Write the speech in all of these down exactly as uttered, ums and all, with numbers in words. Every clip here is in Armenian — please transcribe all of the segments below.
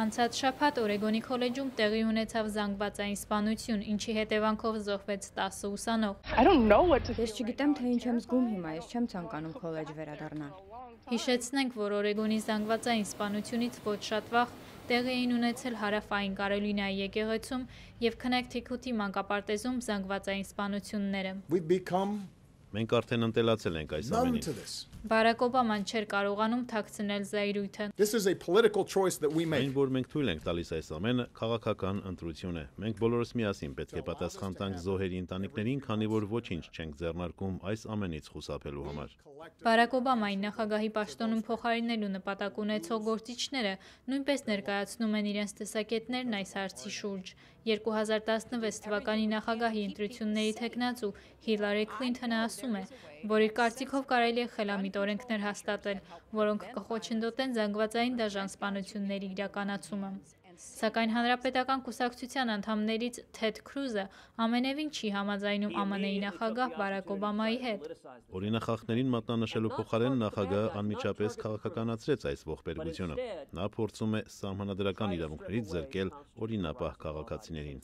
Անցած շաբաթ Օրեգոնի քոլեջում տեղի ունեցավ զանգվածային սպանություն, ինչի հետևանքով զոհվեց տասը ուսանող։ Ես չգիտեմ, թե ինչ եմ զգում հիմա, ես չեմ ցանկանում քոլեջ վերադառնալ։ Հիշեցնենք, որ Օրեգոնի զանգվածային սպանությունից ոչ շատ վաղ տեղի էին ունեցել Հարավային Կարոլինայի եկեղեցում և Քնեքթիքութի մանկապարտեզում զանգվածային սպանությունները։ Մենք արդեն ընտելացել ենք այս ամենին։ Բարակ Օբաման չէր կարողանում թաքցնել զայրույթը։ Այն, որ մենք թույլ ենք տալիս այս ամենը, քաղաքական ընտրություն է։ Մենք բոլորս միասին պետք է պատասխան տանք զոհերի ընտանիքներին, քանի որ ոչինչ չենք ձեռնարկում այս ամենից խուսափելու համար։ Բարակ Օբամայի նախագահի պաշտոնում փոխարինելու նպատակ ունեցող գործիչները նույնպես ներկայացնում են իրենց տեսակետներն այս հարցի շուրջ։ երկու հազար տասնվեց թվականի նախագահի ընտրությունների թեկնածու Հիլարի Քլինթոնը ասում է, որ իր կարծիքով կարելի է խելամիտ օրենքներ հաստատել, որոնք կխոչընդոտեն զանգվածային դաժան սպանությունների իրականացումը։ Սակայն Հանրապետական կուսակցության անդամներից Թեդ Քրուզը ամենևին չի համաձայնում Α M N-ի նախագահ Բարակ Օբամայի հետ։ Օրինախախտներին մատնանշելու փոխարեն նախագահը անմիջապես քաղաքականացրեց այս ողբերգությունը։ Նա փորձում է սահմանադրական իրավունքներից զրկել օրինապահ քաղաքացիներին։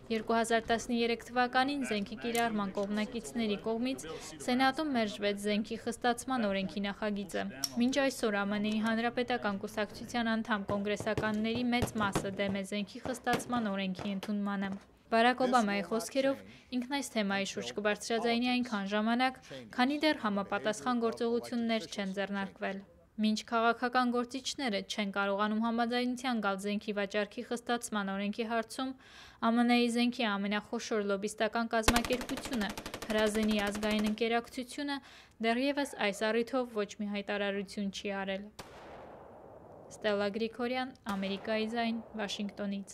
երկու հազար տասներեք թվականին զենքի կիրառման կողմնակիցների կողմից Սենատում մերժվեց զենքի խստացման օրենքի նախագիծը։ Մինչ այսօր Α M N-ի Հանրապետական կուսակցության անդամ կոնգրեսականների մեծ մասը դեմ է զենքի խստացման օրենքի ընդունմանը։ Բարակ Օբամայի խոսքերով ինքն այս թեմայի շուրջ կբարձրաձայնի այնքան ժամանակ, քանի դեռ համապատասխան գործողություններ չեն ձեռնարկվել։ Մինչ քաղաքական գործիչները չեն կարողանում համաձայնության գալ զենքի վաճառքի խստացման օրենքի հարցում, Α M N-ի զենքի ամենախոշոր լոբիստական կազմակերպությունը Հրազենի ազգային ընկերակցությունը դեռևս այս առիթով ոչ մի հայտարարություն չի արել։ Ստելլա Գրիգորյան, Ամերիկայի ձայն, Վաշինգտոնից։